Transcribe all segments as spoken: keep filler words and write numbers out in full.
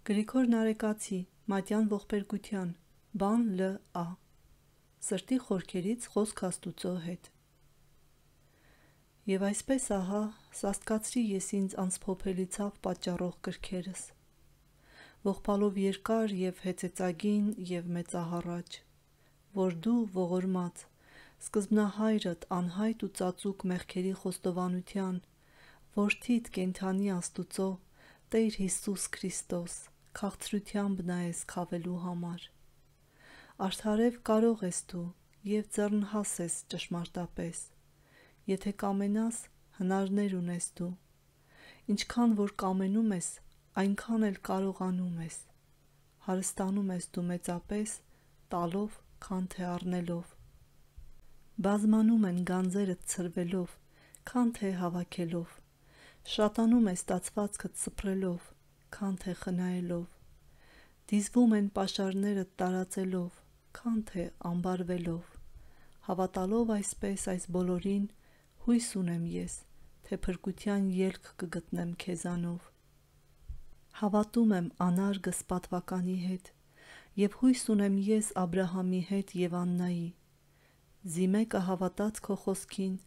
Գրիգոր Նարեկացի, Մատյան ողբերգության, բան Լ Ա Սրտի խորքերից խոսք Աստուծո հետ։ Եվ այսպես ահա սաստկացրի ես ինձ անսփոփելի ցավ պատճառող կրքերս, ողբալով երկար և հեծեծագին և մեծահառաջ, որ դու ողորմած, սկզբնահայրդ անհայտ ու ծածուկ մեղքերի խոստովանության, որդիդ կենդանի Աստուծո, Տեր Հիսուս Քրիստոս, քաղցրությամբ նայես քավելու համար։ Արդարև կարող ես դու և ձեռնհաս ես ճշմարտապես, եթե կամենաս, հնարներ ունես դու, ինչքան որ կամենում ես, այնքան էլ կարողանում ես, հարստանում ես դու մեծապես, տալով, քան թե առնելով, բազմանում են գանձերդ ցրվելով, քան թե հավաքելով, շատանում է ստացվածքդ սփռելով, քան թե խնայելով, դիզվում են պաշարներդ տարածելով, քան թե ամբարվելով, հավատալով այսպես այս բոլորին, հույս ունեմ ես, թե փրկության ելք կգտնեմ քեզանով։ Հավատում եմ անարգս պատվականի հետ, և հույս ունեմ ես Աբրահամի հետ և Աննայի, զի մեկը հավատաց քո խոսքին,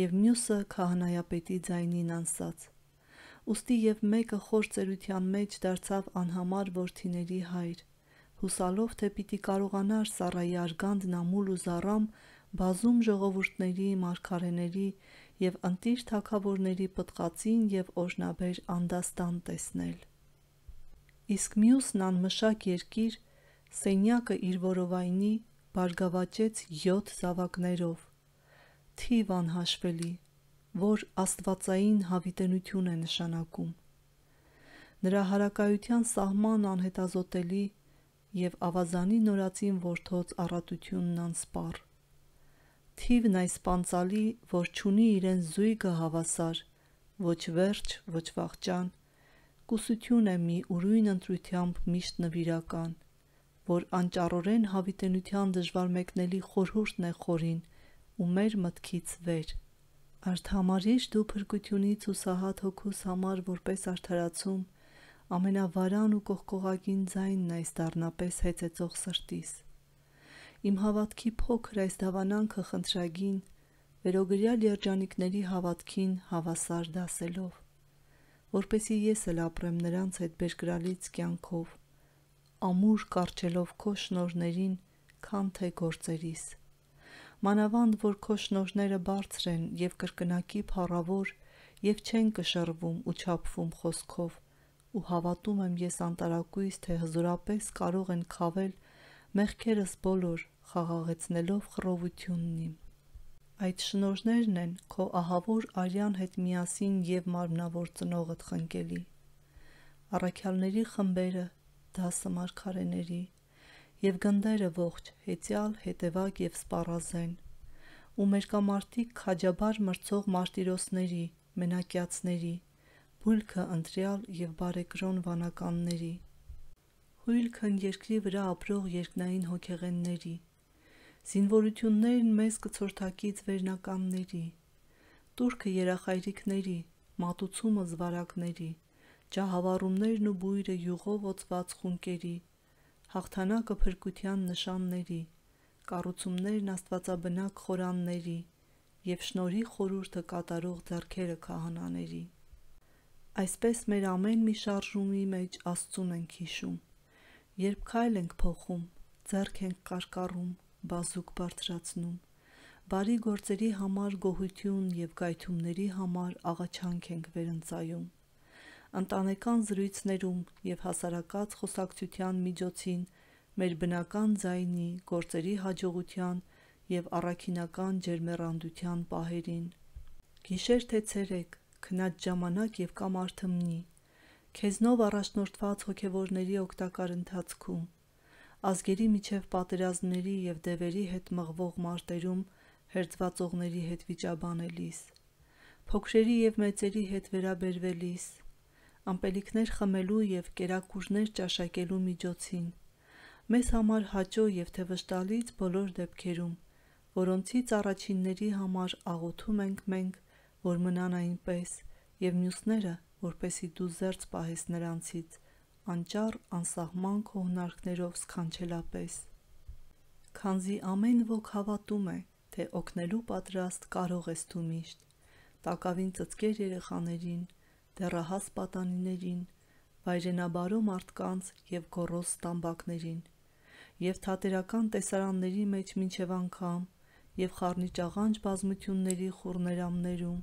և մյուսը քահանայապետի ձայնին անսաց, ուստի և մեկը խոր ծերության մեջ դարձավ անհամար որդիների հայր, հուսալով թե պիտի կարողանար Սառայի արգանդն ամուլ ու զառամ բազում ժողովուրդների, մարգարեների և ընտիր թագավորների պտղածին և օրհնաբեր անդաստան տեսնել։ Իսկ մյուսն անմշակ երկիր, սենյակը իր որովայնի, բարգավաճեց յոթ զավակներով, թիվ անհաշվելի, որ աստվածային հավիտենություն է նշանակում։ Նրա հարակայության սահման անհետազոտելի և ավազանի նորածին որդոց առատությունն անսպառ։ Թիվն այսպանծալի, որ չունի իրեն զույգը հավասար, ոչ վերջ, ոչ վախճան, կուսություն է մի ուրույն ընտրությամբ միշտ նվիրական, որ անճառորեն հավիտենության դժվարմեկնելի խորհուրդն է խորին ու մեր մտքից վեր։ Արդ համարիր դու փրկությունից հուսահատ հոգուս համար որպես արդարացում, ամենավարան ու կողկողագին ձայնն այս դառնապես հեծեծող սրտիս։ Իմ հավատքի փոքր այս դավանանքը խնդրագին, վերոգրյալ երջանիկների հավատքին հավասար դասելով, որպեսզի ես էլ ապրեմ նրանց հետ բերկրալից կյանքով, ամուր կառչելով քո շնորհներին, քան թե գործերիս։ Մանավանդ որ քո շնորհները բարձր են և կրկնակի փառավոր և չեն կշռվում ու չափվում խոսքով, ու հավատում եմ ես անտարակույս, թե հզորապես կարող են քավել մեղքերս բոլոր, խաղաղեցնելով խռովությունն իմ։ Այդ շնորհներն են քո ահավոր արյան հետ միասին և մարմնավոր ծնողդ խնկելի, առաքյալների խմբերը, դասը մարգարեների, և գնդերը ողջ, հեծյալ, հետևակ և սպառազեն, ու մերկամարտիկ քաջաբար մրցող մարտիրոսների, մենակյացների, հույլքը ընտրյալ և բարեկրոն վանականների, հույլքն երկրի վրա ապրող երկնային հոգեղենների, զինվորություններն մեզ կցորդակից վերնականների, տուրքը երախայրիքների, մատուցումը զվարակների, ջահավառումներն ու բույրը յուղով օծված խունկերի, հաղթանակը փրկության նշանների, կառուցումներն աստվածաբնակ խորանների և շնորհի խորհուրդը կատարող ձեռքերը քահանաների։ Այսպես մեր ամեն մի շարժումի մեջ Աստծուն ենք հիշում, երբ քայլ ենք փոխում, ձեռք ենք կարկառում, բազուկ բարձրացնում, բարի գործերի համար գոհություն և գայթումների համար աղաչանք ենք վերընծայում, ընտանեկան զրույցներում և հասարակած խոսակցության միջոցին մեր բնական ձայնի, գործերի հաջողության և առաքինական ջերմեռանդության պահերին։ Գիշեր թե ցերեկ, քնած ժամանակ և կամ արթմնի, քեզնով առաջնորդված հոգևորների օգտակար ընթացքում, ազգերի միջև պատերազմների և դևերի հետ մղվող մարտերում հերձվածողների հետ վիճաբանելիս, փոքրերի և մեծերի հետ վերաբերվելիս, ըմպելիքներ խմելու և կերակուրներ ճաշակելու միջոցին, մեզ համար հաճո և թե վշտալից բոլոր դեպքերում, որոնցից առաջինների համար աղոթում ենք մենք, որ մնան այնպես, և մյուսները, որպեսզի դու զերծ պահես նրանցից, անճառ անսահման քո հնարքներով սքանչելապես։ Քանզի ամեն ոք հավատում է, թե օգնելու պատրաստ կարող ես դու միշտ, տակավին ծծկեր երեխաներին, դեռահաս պատանիներին, վայրենաբարո մարդկանց և գոռոզ տամբակներին, և թատերական տեսարանների մեջ մինչև անգամ, և խառնիճաղանճ բազմությունների խուռներամներում,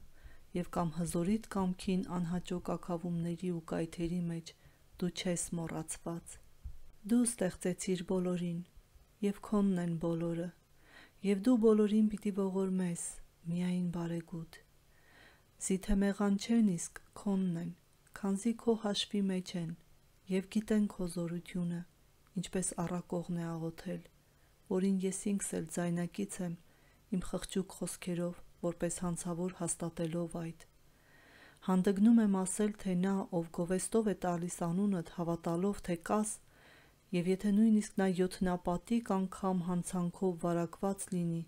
և կամ հզորիտ կամքին անհաճո կաքավումների ու կայթերի մեջ դու չես մոռացված։ Դու ստեղծեցիր բոլորին, և քոնն են բոլորը, և դու բոլորին պիտի ողորմես, միայն բարեգութ։ Զիթեմեղան չեն, իսկ քոնն են, քանզի քո հաշվի մեջ են, և գիտեն քո զորությունը, ինչպես առակողն է աղոթել, որին ես ինքս էլ ձայնակից եմ իմ խղճուկ խոսքերով, որպես հանցավոր հաստատելով այդ։ Հանդգնում եմ ասել, թե նա, ով գովեստով է տալիս անունդ, հավատալով, թե կաս, և եթե նույնիսկ նա յոթնապատիկ անգամ հանցանքով վարակված լինի,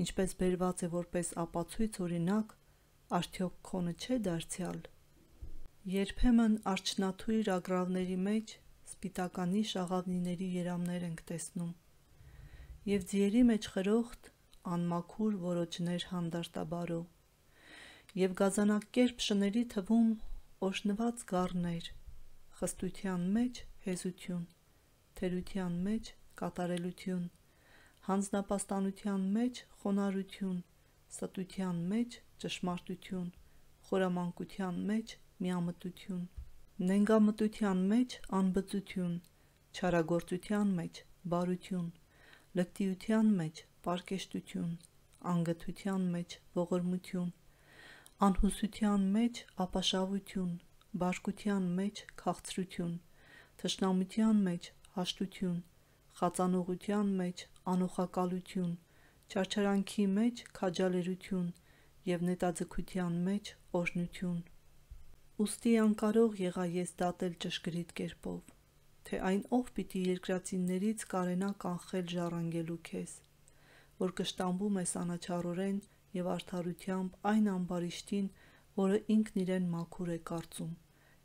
ինչպես բերված է որպես ապացույց օրինակ, արդյոք քոնը չէ դարձյալ։ Երբեմն արջնաթույր ագռավների մեջ սպիտականի շաղավնիների երամներ ենք տեսնում, և ձիերի մեջ խրոխտ, անմաքուր որոջներ հանդարտաբարո, և գազանակերպ շների թվում օժնված գառներ, խստության մեջ հեզություն, թերության մեջ կատարելություն, հանձնապաստանության մեջ խոնարհություն, ստության մեջ ճշմարտություն, խորամանկության մեջ միամտություն, նենգամտության մեջ անբծություն, չարագործության մեջ բարություն, լկտիության մեջ պարկեշտություն, անգթության մեջ ողորմություն, անհուսության մեջ ապաշավություն, բարկության մեջ քաղցրություն, թշնամության մեջ հաշտություն, խածանողության մեջ անօխակալություն, չարչարանքի մեջ քաջալերություն և նետաձգության մեջ օրհնություն։ Ուստի անկարող եղա ես դատել ճշգրիտ կերպով, թե այն ով պիտի երկրածիններից կարենա կանխել ժառանգելու քեզ, որ կշտամբում ես անաչառորեն և արդարությամբ այն ամբարիշտին, որը ինքն իրեն մաքուր է կարծում,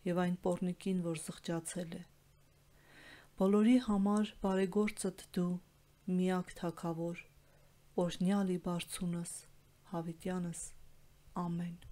և այն պոռնիկին, որ զղջացել է։ Բոլորի համար բարեգործդ դու, միակ Թագավոր, օրհնյալ ի բարձունս, հավիտյանս, ամեն։